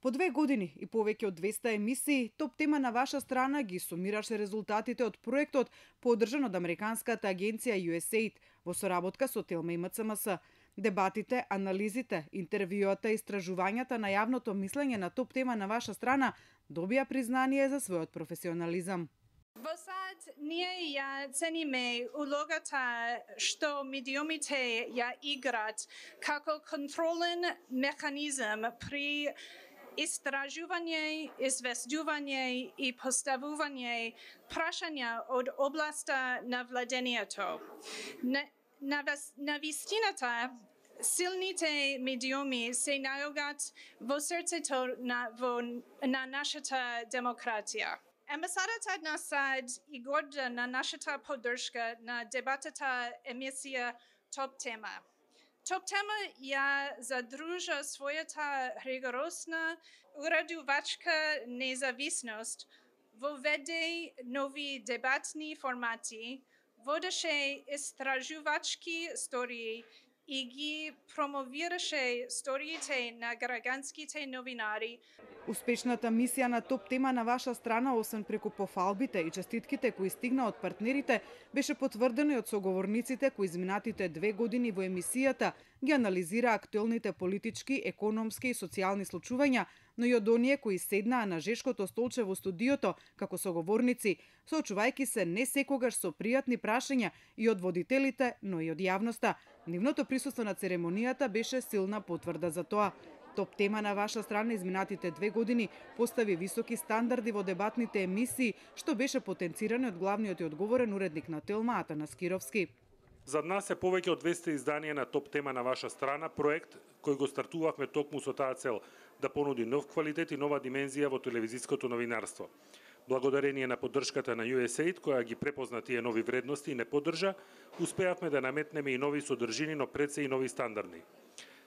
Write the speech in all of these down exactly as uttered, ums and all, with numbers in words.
По две години и повеќе од двесте емисии, топ тема на ваша страна ги сумираше резултатите од проектот поддржан од американската агенција ю ес ей ай ди во соработка со Телма и ем це ем ес. Дебатите, анализите, интервјуата и истражувањата на јавното мислење на топ тема на ваша страна добија признание за својот професионализам. Во САД ние ја цениме улогата што медиумите ја играт како контролен механизам при истражување, известување и поставување прашања од областа на владењето. На, на, на вистината, силните медиуми се наоѓаат во срцето на, во, на нашата демократија. Амбасадата на САД и горда на нашата поддршка на дебатата емисија Топ тема. Топ тема ја задружа својата ригоросна урадувачка независност, воведе нови дебатни формати, водеше истражувачки стории и ги промовираше сториите на граѓанските новинари. Успешната мисија на топ тема на ваша страна, освен преку пофалбите и честитките кои стигна од партнерите, беше потврдено и од соговорниците кои изминатите две години во емисијата ги анализира актуелните политички, економски и социјални случувања, но и од оние кои седнаа на жешкото столче во студиото како соговорници, соочувајќи се не секогаш со пријатни прашања и од водителите, но и од јавноста. Нивното присуство на церемонијата беше силна потврда за тоа. Топ тема на ваша страна изминатите две години постави високи стандарди во дебатните емисии, што беше потенцирано од главниот и одговорен уредник на Телма Атанас Кировски. За нас е повеќе од двесте изданија на топ тема на ваша страна, проект кој го стартувавме токму со таа цел да понуди нов квалитет и нова димензија во телевизиското новинарство. Благодарение на поддршката на ю ес ей ай ди, која ги препозна тие нови вредности и не поддржа, успеавме да наметнеме и нови содржини, но пред се и нови стандарди.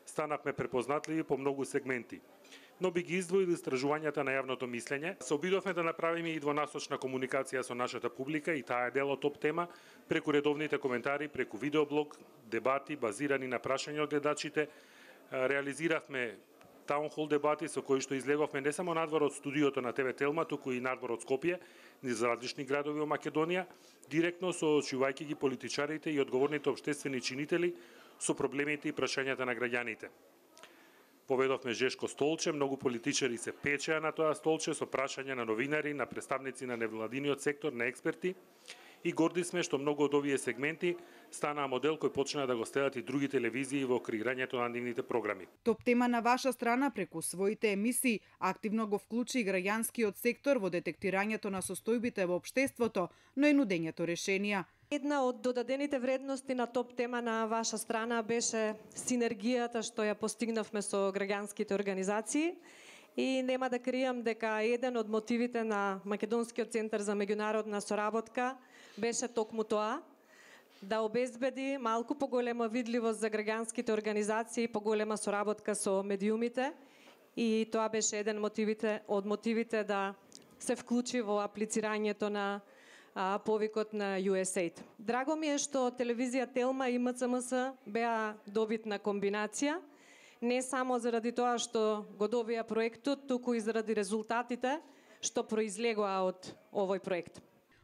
Станавме препознатливи по многу сегменти, но би ги издвоили истражувањата на јавното мислење. Се обидовме да направиме и двонасочна комуникација со нашата публика и таа е дел од топ тема, преку редовните коментари, преку видеоблог, дебати базирани на прашања од гледачите. Реализиравме таунхол дебати со кои што излеговме не само надвор од студиото на те ве Телма, туку и надвор од Скопје, низ различни градови во Македонија, директно соочувајќи ги политичарите и одговорните општествени чинители со проблемите и прашањата на граѓаните. Поведовме жешко столче, многу политичари се печеа на тоа столче со прашања на новинари, на представници на невладиниот сектор, на експерти, и горди сме што многу од овие сегменти станаа модел кој почна да го следат и други телевизии во креирањето на нивните програми. Топ тема на ваша страна преку своите емисии активно го вклучи и граѓанскиот сектор во детектирањето на состојбите во општеството, но и нудењето решенија. Една од додадените вредности на топ тема на ваша страна беше синергијата што ја постигнавме со граѓанските организации. И нема да кријам дека еден од мотивите на Македонскиот центар за меѓународна соработка беше токму тоа, да обезбеди малку поголема видливост за граѓанските организации, поголема соработка со медиумите, и тоа беше еден мотивите, од мотивите да се вклучи во аплицирањето на а, повикот на ю ес ей ай ди. Драго ми е што телевизија Телма и ем це ем ес беа добитна комбинација, не само заради тоа што го добија проектот, туку и заради резултатите што произлегоа од овој проект.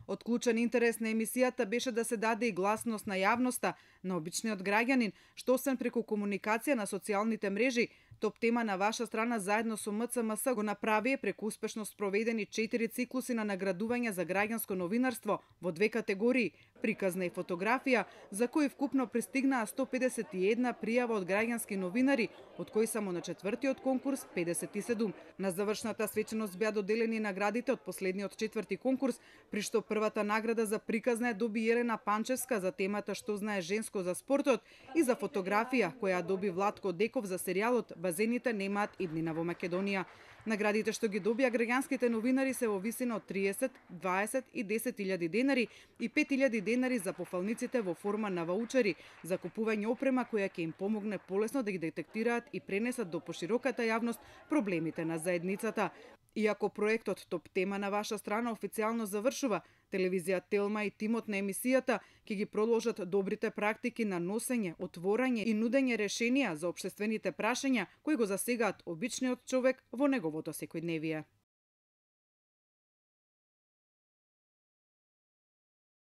Од клучен интерес на емисијата беше да се даде и гласност на јавноста, на обичниот граѓанин, што освен преку комуникација на социјалните мрежи, топ тема на ваша страна заедно со ем це ем ес го направи преку успешно спроведени четири циклуси на наградување за граѓанско новинарство во две категории – приказна и фотографија, за кои вкупно пристигнаа сто педесет и една пријава од граѓански новинари, од кои само на четвртиот конкурс педесет и седум. На завршната свеченост беа доделени наградите од последниот четврти конкурс, при што првата награда за приказна ја доби Елена Панчевска за темата Што знае женско за спортот и за фотографија која доби Владко Деков за серијалот Базените немаат иднина во Македонија. Наградите што ги добија граѓанските новинари се во висина од триесет, дваесет и десет илјади денари и пет илјади денари за пофалниците во форма на ваучери за купување опрема која ќе им помогне полесно да ги детектираат и пренесат до пошироката јавност проблемите на заедницата. Иако проектот Топ тема на ваша страна официјално завршува, телевизија Телма и тимот на емисијата ќе ги продолжат добрите практики на носење, отворање и нудење решенија за општествените прашања кои го засегаат обичниот човек во неговото секојдневие.